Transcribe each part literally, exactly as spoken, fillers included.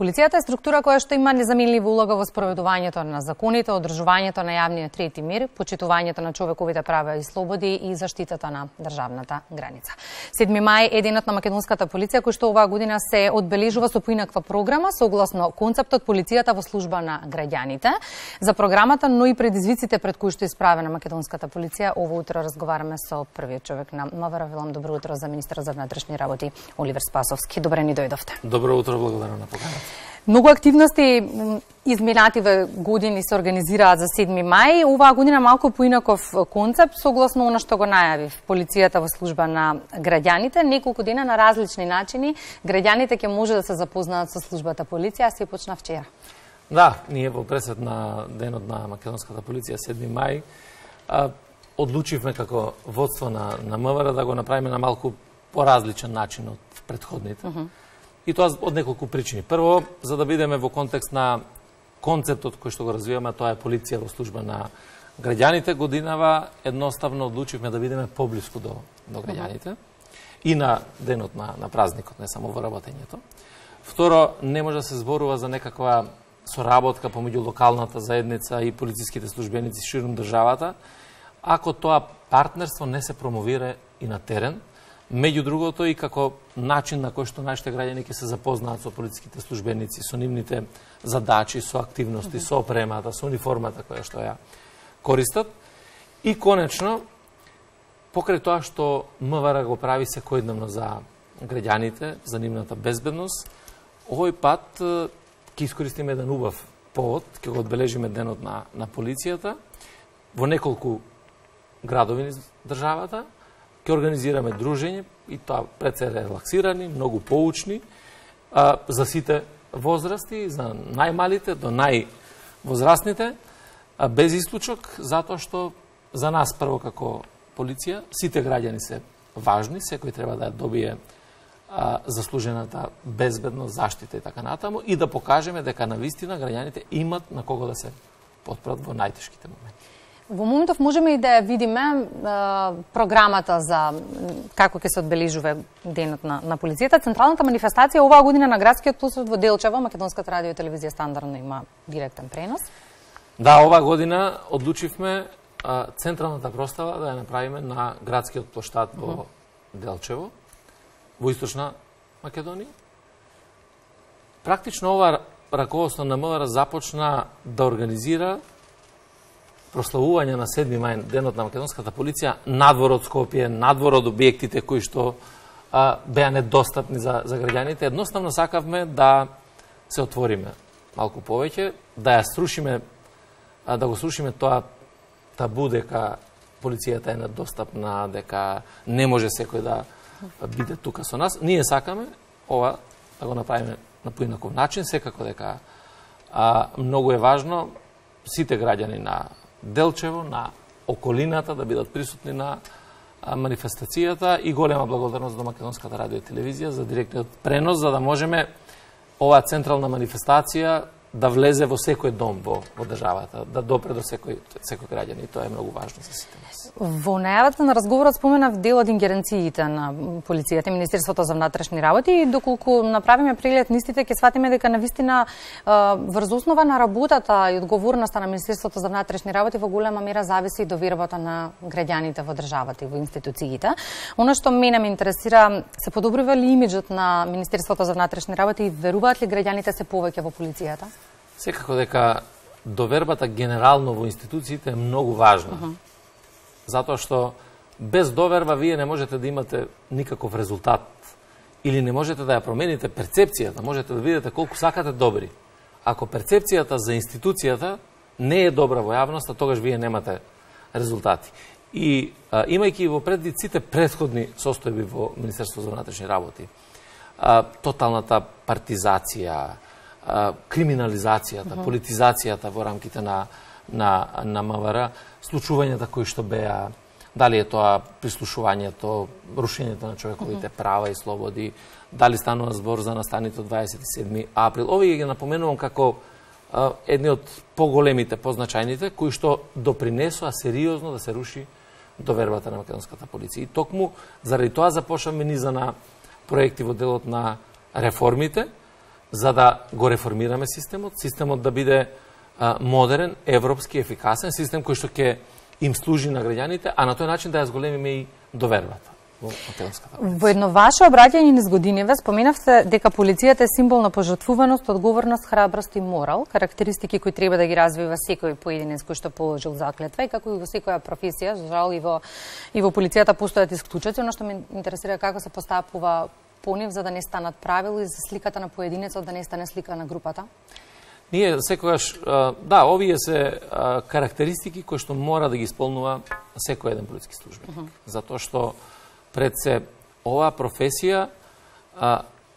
Полицијата е структура која што има незаменлива улога во спроведувањето на законите, одржувањето на јавниот ред и мир, почитувањето на човековите права и слободи и заштитата на државната граница. седми мај е денот на македонската полиција, кој што оваа година се одбележува со поинаква програма согласно концептот Полицијата во служба на граѓаните. За програмата, но и предизвиците пред кои што е исправена македонската полиција, ово утро разговараме со првиот човек на МВР. Велам добро утро за министерот за внатрешни работи Оливер Спасовски. Добре ни дојдовте. Добро утро, благодарам на поканата. Многу активности изминативе години се организираат за седми мај. Оваа година малку поинаков концепт, согласно она што го најавив Полицијата во служба на граѓаните. Неколку дена на различни начини граѓаните ќе може да се запознаат со службата полиција, а се почна вчера. Да, ние во пресед на денот на македонската полиција седми мај а, одлучивме како водство на, на МВР да го направиме на малку поразличен начин од претходните. Uh -huh. И тоа од неколку причини. Прво, за да бидеме во контекст на концептот кој што го развиваме, тоа е полиција во служба на граѓаните, годинава едноставно одлучивме да бидеме поблиску до, до граѓаните uh -huh. и на денот на, на празникот, не само во работењето. Второ, не може да се зборува за некаква соработка помеѓу локалната заедница и полициските службеници ширум државата, ако тоа партнерство не се промовира и на терен, меѓу другото и како начин на кој што нашите граѓани ќе се запознаат со полициските службеници, со нивните задачи, со активности, со опремата, со униформата која што ја користат. И конечно, покрај тоа што МВР го прави секојдневно за граѓаните, за нивната безбедност, овој пат ќе искористиме еден убав повод, ќе го одбележиме денот на, на полицијата во неколку градови низ државата. Ќе организираме дружење и тоа пред се релаксирани, многу поучни, а, за сите возрасти, за најмалите до највозрастните, а, без исклучок, затоа што за нас прво како полиција, сите граѓани се важни, секој треба да добие а, заслужената безбедност, заштита и така натаму, и да покажеме дека навистина граѓаните имат на кого да се потпрат во најтешките моменти. Во моментов можеме и да ја видиме е, програмата за како ќе се одбележува денот на, на полицијата. Централната манифестација оваа година на градскиот площад во Делчево, Македонската радио и телевизија стандардно има директен пренос. Да, оваа година одлучивме а, централната простава да ја направиме на градскиот площад во uh -huh. Делчево, во Источна Македонија. Практично ова раководство на МВР започна да организира прославување на седми мај, денот на македонската полиција, надвор од Скопје, надвор од објектите кои што а, беа недостапни за, за граѓаните. Едноставно сакавме да се отвориме малку повеќе, да ја срушиме, а, да го срушиме тоа табу дека полицијата е недостапна, дека не може секој да биде тука со нас. Ние сакаме ова да го направиме на поинаков начин, секако дека а, многу е важно сите граѓани на Делчево, на околината да бидат присутни на манифестацијата, и голема благодарност до Македонската радио и телевизија за директниот пренос, за да можеме оваа централна манифестација да влезе во секој дом во, во државата, да допре до секој, секој граѓани, и тоа е многу важно за сите нас. Во најавата на разговорот споменав дел од ингеренциите на полицијата и Министерството за внатрешни работи, и доколку направиме преглед нистите, ќе сватиме дека навистина врз основа на работата и одговорноста на Министерството за внатрешни работи во голема мера зависи и довербата на граѓаните во државата и во институциите. Оно што мене ме интересира, се подобрува ли имиџот на Министерството за внатрешни работи и веруваат ли граѓаните се повеќе во полицијата? Секако дека довербата генерално во институциите е многу важна. Uh -huh. Затоа што без доверба вие не можете да имате никаков резултат или не можете да ја промените перцепцијата, можете да видите колку сакате добри. Ако перцепцијата за институцијата не е добра во јавноста, тогаш вие немате резултати. И а, имајќи во предвид сите претходни состојби во Министерството за внатрешни работи, а, тоталната партизација, криминализацијата, uh -huh. политизацијата во рамките на, на, на МВР, случувањата кои што беа, дали е тоа прислушувањето, рушењето на човековите uh -huh. права и слободи, дали станува збор за настаните од дваесет и седми април. Овие ги напоменувам како а, едни од поголемите, позначајните, кои што допринесоа сериозно да се руши довербата на македонската полиција. И токму заради тоа започнавме низа на проекти во делот на реформите, за да го реформираме системот, системот да биде а, модерен, европски, ефикасен, систем кој што ќе им служи на граѓаните, а на тој начин да ја зголемиме и довербата во македонската полиција. Во едно ваше обраќање низ годиниве споменавте дека полицијата е символ на пожртвуваност, одговорност, храброст и морал, карактеристики кои треба да ги развива секој поединец кој што положил заклетва, и како и во секоја професија, жал и во и во полицијата постојат исклучоци, но што ме интересира како се постапува по нив за да не станат правило и за сликата на поединецот да не стане слика на групата. Ние секогаш, да, овие се карактеристики кои што мора да ги исполнува секој еден полициски службеник. Uh -huh. Затоа што пред се оваа професија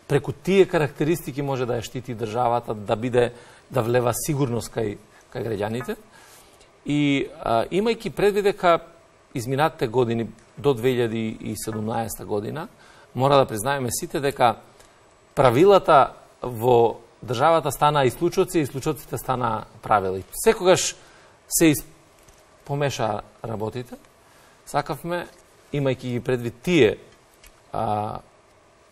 преку тие карактеристики може да ја штити државата, да биде да влева сигурност кај кај граѓаните. И а, имајќи предвид дека изминатите години до две илјади и седумнаесета година мора да признаеме сите дека правилата во државата стана исклучоци, исклучоците стана правила. Секогаш се из... помеша работите. Сакавме, имајќи ги предвид тие а,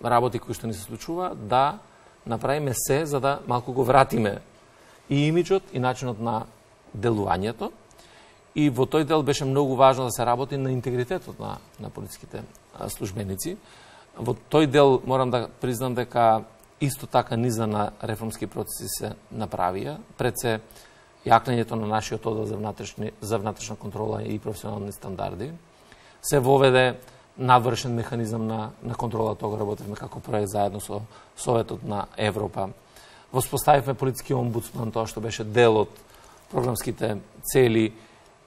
работи кои што ни се случува, да направиме се за да малку го вратиме и имиджот и начинот на делувањето. И во тој дел беше многу важно да се работи на интегритетот на, на полициските службеници. Во тој дел морам да признам дека исто така низа на реформски процеси се направија. Пред се јакнењето на нашиот оддел за, за внатрешна контрола и професионални стандарди. Се воведе надвршен механизам на, на контрола, тоа го работевме како проект заедно со Советот на Европа. Воспоставивме полициски омбудсман, тоа што беше дел од програмските цели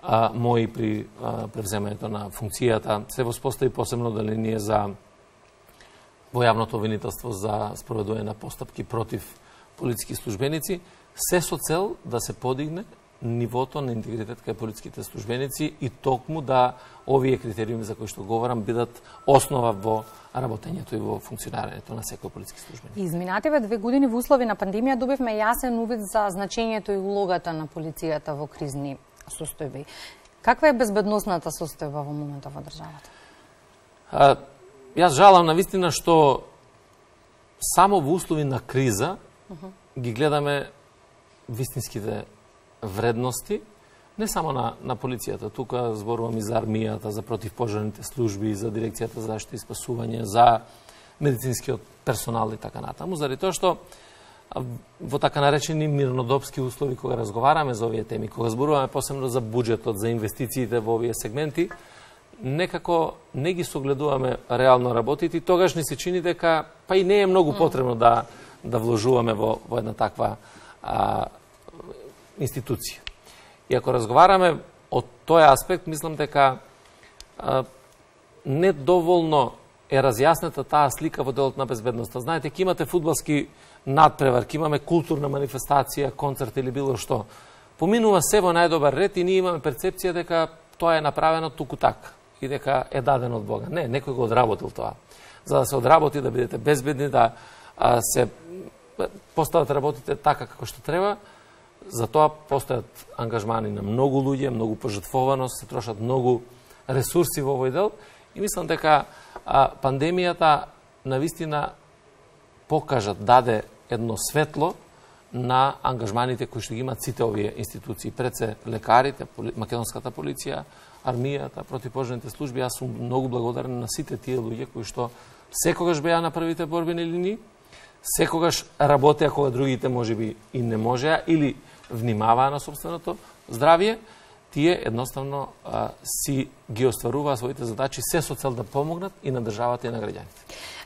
а, мои при а, превземањето на функцијата. Се воспостави посебно деление за во јавното обвинителство за спроведување на постапки против полициски службеници, се со цел да се подигне нивото на интегритет кај полициските службеници и токму да овие критериуми за кои што говорам бидат основа во работењето и во функционирањето на секој полициски службеник. Изминативе две години во услови на пандемија добивме јасен увид за значењето и улогата на полицијата во кризни состојби. Каква е безбедносната состојба во моментот во државата? А, јас жалам на вистина што само во услови на криза uh -huh. ги гледаме вистинските вредности, не само на, на полицијата, тука зборувам и за армијата, за противпожарните служби, за дирекцијата за заштита и спасување, за медицинскиот персонал и така натаму, заради тоа што во така наречени мирнодопски услови кога разговараме за овие теми, кога зборуваме посебно за буџетот, за инвестициите во овие сегменти, некако не ги согледуваме реално работите и тогаш ни се чини дека па и не е многу потребно да да вложуваме во во една таква а, институција. И ако разговараме од тој аспект, мислам дека а, недоволно е разјаснета таа слика во делот на безбедноста. Знаете, ке имате фудбалски надпревар, ке имаме културна манифестација, концерт или било што. Поминува се во најдобар ред и ние имаме перцепција дека тоа е направено туку така и дека е дадено од Бога. Не, некој го одработил тоа. За да се одработи, да бидете безбедни, да а, се постават работите така како што треба, за тоа постојат ангажмани на многу луѓе, многу пожртвованост, се трошат многу ресурси во овој дел и мислам дека а, пандемијата навистина покажа, даде едно светло на ангажманите кои што ги имаат сите овие институции. Пред се лекарите, поли, македонската полиција, армијата, противпожарните служби. Јас сум многу благодарен на сите тие луѓе кои што секогаш беа на првите борбени линии, секогаш работеа кога другите можеби и не можеа или внимаваа на собственото здравје, тие едноставно а, си ги остваруваа своите задачи се со цел да помогнат и на државата и на граѓаните.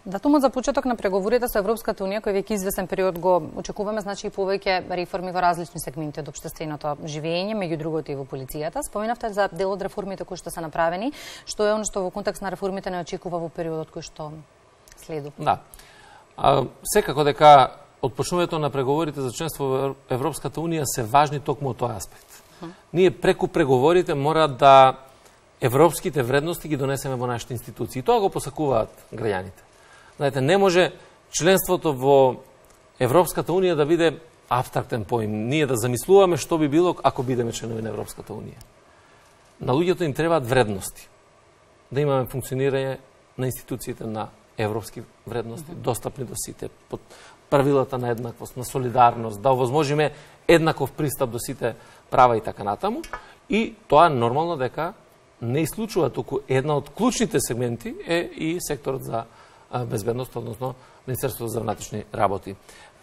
Датумот за почеток на преговорите со Европската унија, кој веќе извесен период го очекуваме, значи и повеќе реформи во различни сегменти од општественото живење, меѓу другото и во полицијата. Споменавте за дел од реформите кои што се направени, што е оно што во контекст на реформите не очекува во периодот кој што следува. Да. А, секако дека отпочнувањето на преговорите за членство во Европската унија се важни токму од тој аспект. Uh-huh. Ние преку преговорите мора да европските вредности ги донесеме во нашите институции. Тоа го посакуваат граѓаните. Знаете, не може членството во Европската унија да биде абстрактен поим. Ние да замислуваме што би било ако бидеме членови на Европската унија. На луѓето им требаат вредности. Да имаме функционирање на институциите на европски вредности, uh-huh. достапни до сите, под правилата на еднаквост, на солидарност, да овозможиме еднаков пристап до сите права и така натаму. И тоа нормално дека не исклучува, туку една од клучните сегменти е и секторот за безбедност, односно Министерството за внатрешни работи.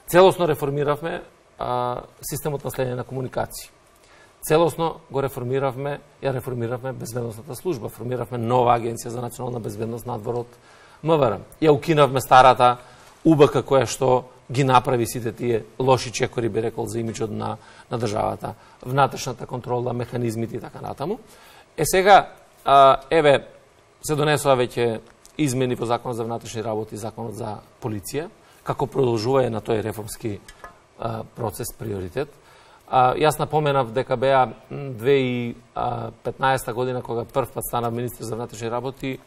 Целосно реформиравме а, системот на следење на комуникации. Целосно го реформиравме, ја реформиравме безбедносната служба, формиравме нова агенција за национална безбедност надвор од МВР. Ја укинавме старата У Б К која што ги направи сите тие лоши чекори, би рекол, за имиджот на, на државата, внатрешната контрола, механизмите и така натаму. Е сега, а, еве, се донесува веќе измени во Законот за внатрешни работи и Законот за полиција, како продолжува на тој реформски а, процес, приоритет. А, јас напоменав дека беа две илјади и петнаесета година, кога прв пат станав министер за внатрешни работи,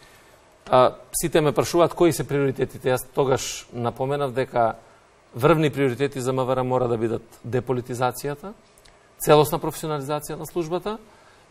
а, сите ме прашуваат кои се приоритетите. Јас тогаш напоменав дека врвни приоритети за МВР мора да бидат деполитизацијата, целосна професионализација на службата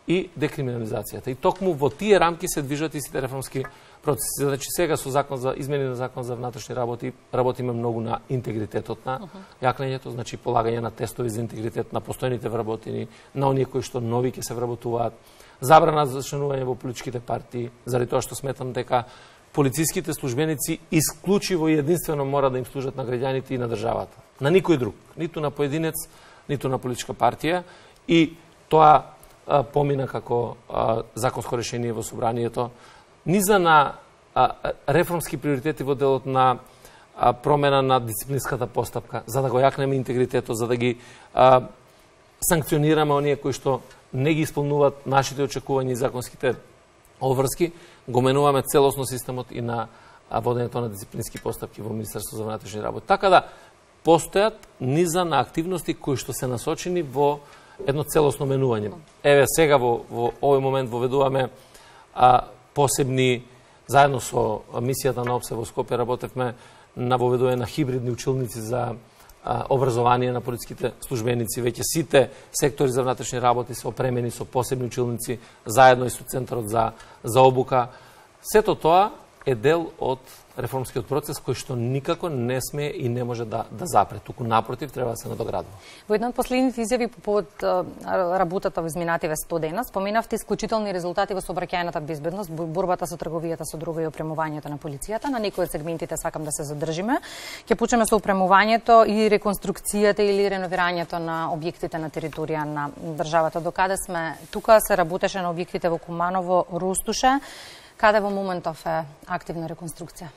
и декриминализацијата. И токму во тие рамки се движат и сите реформски процеси. Значи сега со закон за измени на Закон за внатрешни работи работиме многу на интегритетот на јакнењето, значи полагање на тестови за интегритет на постојните вработени, на оние кои што нови ќе се вработуваат, забрана за членување во политичките партии, заради тоа што сметам дека полициските службеници исклучиво и единствено мора да им служат на граѓаните и на државата. На никој друг, ниту на поединец, ниту на политичка партија, и тоа а, помина како а, законско решение во собранието, низа на а, реформски приоритети во делот на а, промена на дисциплинската постапка, за да го јакнеме интегритетот, за да ги а, санкционираме оние кои што не ги исполнуваат нашите очекувања и законските обврски, го менуваме целосно системот и на водењето на дисциплински постапки во Министерството за внатрешни работи. Така да постојат низа на активности кои што се насочени во едно целосно менување. Еве сега во, во овој момент воведуваме а, посебни, заедно со мисијата на ОПСЕ во Скопје работевме на воведување на хибридни училници за а, образование на полициските службеници. Веќе сите сектори за внатрешни работи се опремени со посебни училници, заедно и со Центарот за, за обука. Сето тоа е дел од реформскиот процес кој што никако не сме и не може да, да запре. Туку напротив, треба да се надоградува. Во една од последните изјави по повод работата во изминативе сто дена, споменавте исклучителни резултати во сообраќајната безбедност, борбата со трговијата со друго и опремувањето на полицијата. На некои од сегментите сакам да се задржиме. Ќе почнеме со опремувањето и реконструкцијата или реновирањето на објектите на територија на државата. Докаде сме тука, се работеше на објектите во Куманово, Рустуше. Каде во моментов е активна реконструкција?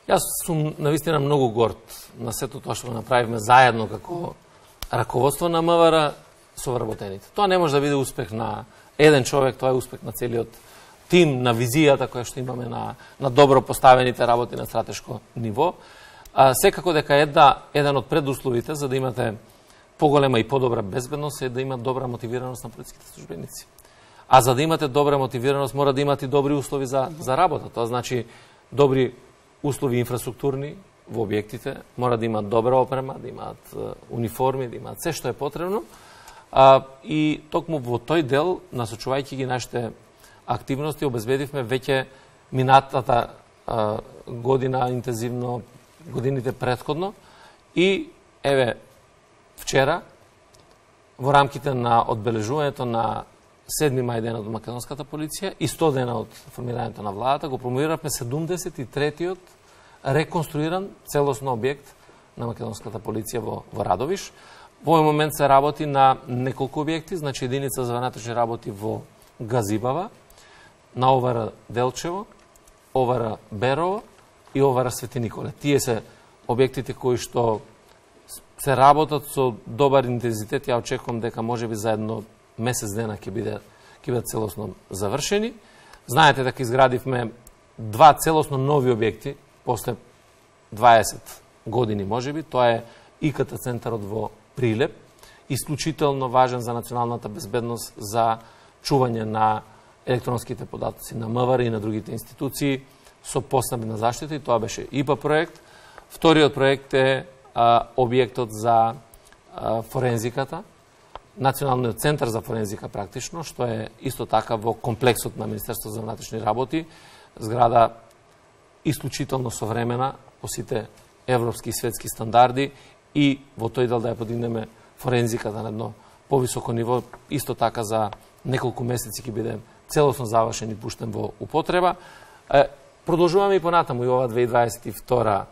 Јас сум навистина многу горд на сето тоа што го направивме заедно како раководство на МВР со вработените. Тоа не може да биде успех на еден човек, тоа е успех на целиот тим, на визијата која што имаме на, на добро поставените работи на стратешко ниво. А, секако дека една, еден од предусловите за да имате поголема и подобра безбедност е да има добра мотивираност на полициските службеници. А за да имате добра мотивираност, мора да имате добри услови за, за работа. Тоа значи добри услови инфраструктурни во објектите, мора да имаат добра опрема, да имаат униформи, да имаат се што е потребно. А, и токму во тој дел, насочувајќи ги нашите активности, обезбедивме веќе минатата а, година интензивно, годините претходно, и еве вчера во рамките на одбележувањето на седми мај денот од македонската полиција и сто дена од формирањето на владата, го промовиравме седумдесет и третиот реконструиран целосно објект на македонската полиција во, во Радовиш. Во овој момент се работи на неколку објекти, значи единица за внатрешни работи во Газибава, на О В Р Делчево, О В Р Берово и О В Р Свети Николе. Тие се објектите кои што се работат со добар интензитет. Ја очекувам дека можеби за едно месец дена ќе биде ќе бидат целосно завршени. Знаете дека изградивме два целосно нови објекти после дваесет години можеби. Тоа е И К Т центарот во Прилеп, исклучително важен за националната безбедност, за чување на електронските податоци на МВР и на другите институции со посебна заштита, и тоа беше И П А проект. Вториот проект е а, објектот за а, форензиката, Националниот центар за форензика практично, што е исто така во комплексот на Министерството за внатрешни работи, зграда исклучително современа по сите европски и светски стандарди и во тој дел да ја подигнеме форензиката на едно повисоко ниво, исто така за неколку месеци ќе биде целосно завршен и пуштен во употреба. Продолжуваме и понатаму и ова две илјади дваесет и втора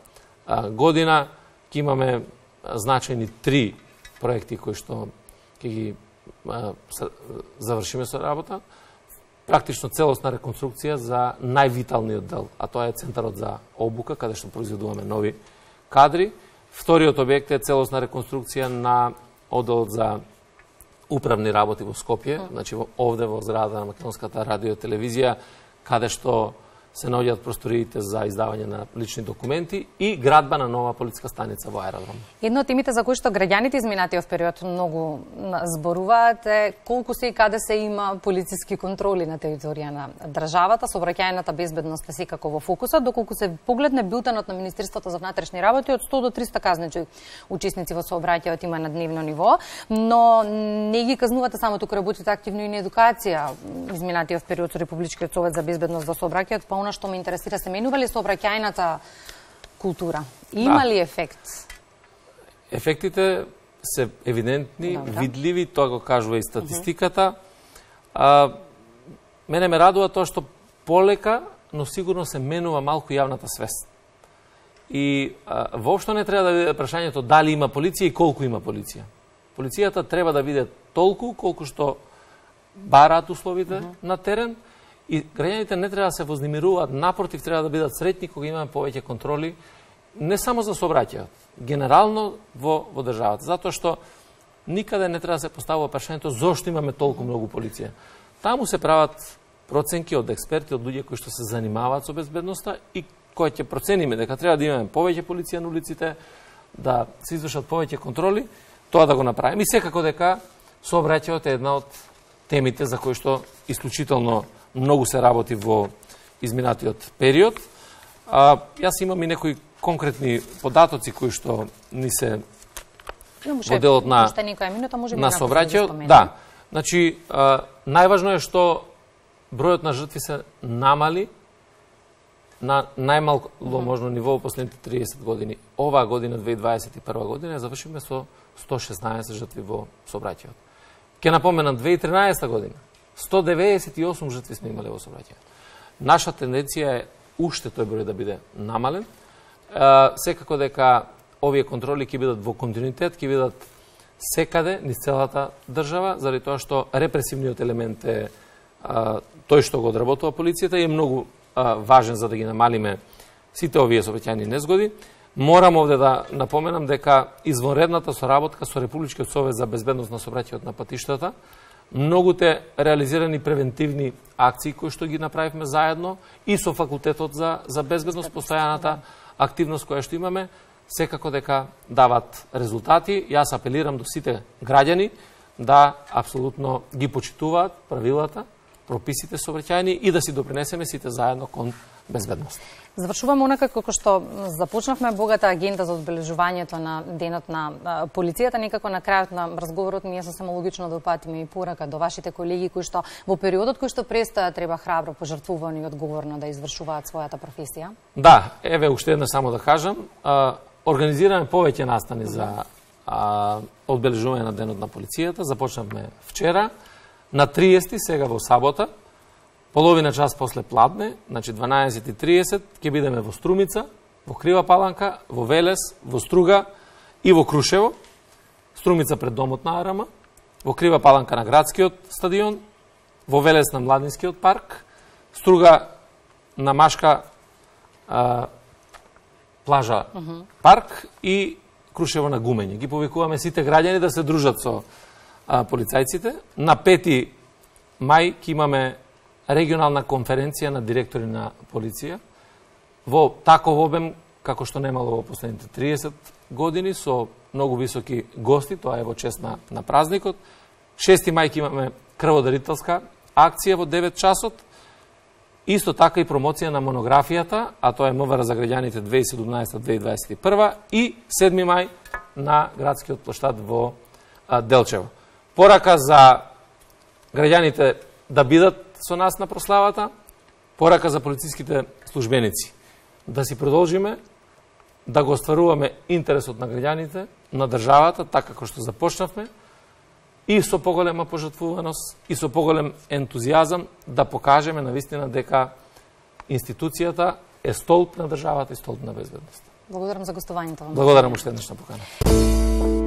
година ќе имаме значајни три проекти кои што ќе ги завршиме со работа. Практично целосна реконструкција за највиталниот дел, а тоа е центарот за обука, каде што произведуваме нови кадри. Вториот објект е целосна реконструкција на одделот за управни работи во Скопје, значи овде во зградата на Македонската радио и телевизија, каде што се наоѓаат просториите за издавање на лични документи и градба на нова полициска станица во аеродром. Едно од темите за кои што граѓаните изминатиот период многу зборуваат е колку се и каде се има полициски контроли на територија на државата. Сообраќајната безбедност е секако во фокусот, доколку се погледне билтенот на Министерството за внатрешни работи, од сто до триста казничи учесници во сообраќајот има на дневно ниво, но не ги казнувате само, туку работите активно и на едукација. Изминатиот период со Републичкиот совет за безбедност во сообраќајот, па она што ме интересира, се менува ли сообраќајната култура? Има да. ли ефект? Ефектите се евидентни, Добра. видливи, тоа го кажува и статистиката. А, мене ме радува тоа што полека, но сигурно се менува малку јавната свест. И а, воопшто не треба да биде прашањето дали има полиција и колку има полиција. Полицијата треба да биде толку колку што бараат условите uh -huh. на терен, и граѓаните не треба да се вознемируваат, напротив, треба да бидат среќни кога имаме повеќе контроли, не само за сообраќајот, генерално во, во државата. Затоа што никаде не треба да се поставува прашањето зошто имаме толку многу полиција. Таму се прават проценки од експерти, од луѓе кои што се занимаваат со безбедноста и кои ќе процениме дека треба да имаме повеќе полиција на улиците, да се извршат повеќе контроли, тоа да го направиме. И секако дека сообраќајот е една од темите за кои што исклучително многу се работи во изминатиот период. А, јас имам и некои конкретни податоци кои што ни се во делот на, на сообраќајот. Да, значи, а, најважно е што бројот на жртви се намали на најмалко можно ниво во последните триесет години. Оваа година, две илјади дваесет и прва година, завршиме со сто шеснаесет жртви во сообраќајот. Ке напоменам, две илјади и тринаесета година, сто деветдесет и осум жртви сме имале во сообраќајот. Наша тенденција е уште тој број да биде намален. Е, секако дека овие контроли ќе бидат во континуитет, ќе бидат секаде, низ целата држава, заради тоа што репресивниот елемент е е тој што го одработува полицијата и е многу е, важен за да ги намалиме сите овие сообраќајни незгоди. Морам овде да напоменам дека извонредната соработка со Републичкиот совет за безбедност на сообраќајот на патиштата, многуте реализирани превентивни акции кои што ги направивме заедно и со факултетот за за безбедност, постојаната активност која што имаме, секако дека дават резултати. Јас апелирам до сите граѓани да апсолутно ги почитуваат правилата, прописите сообраќајни и да си допринесеме сите заедно кон безбедност. Завршуваме онака како што започнавме богата агенда за одбележувањето на денот на полицијата. Некако на крајот на разговорот ми е сосема логично да упатиме и порака до вашите колеги кои што во периодот кој што престоја треба храбро, пожртвувано и одговорно да извршуваат својата професија. Да, еве уште една само да кажам, организираме повеќе настани за одбележување на денот на полицијата. Започнавме вчера на триесети, сега во сабота. Половина час после пладне, значи дванаесет и триесет, ќе бидеме во Струмица, во Крива Паланка, во Велес, во Струга и во Крушево. Струмица пред домот на Арама, во Крива Паланка на градскиот стадион, во Велес на Младинскиот парк, Струга на Машка а, плажа uh -huh. парк и Крушево на Гумење. Ги повикуваме сите граѓани да се дружат со а, полицајците. На пети мај ќе имаме регионална конференција на директори на полиција во таков обем како што немало во последните триесет години, со многу високи гости, тоа е во чест на, на празникот. шести мај ќе имаме крводарителска акција во девет часот. Исто така и промоција на монографијата, а тоа е МВР за граѓаните две илјади и седумнаесета до две илјади дваесет и прва и седми мај на градскиот плоштад во а, Делчево. Порака за граѓаните да бидат со нас на прославата, порака за полициските службеници. Да си продолжиме да го остваруваме интересот на граѓаните, на државата, така како што започнавме, и со поголема пожртвуваност, и со поголем ентузијазам да покажеме навистина дека институцијата е столб на државата и столб на безбедност. Благодарам за гостувањето. Благодарам уште еднаш на покана.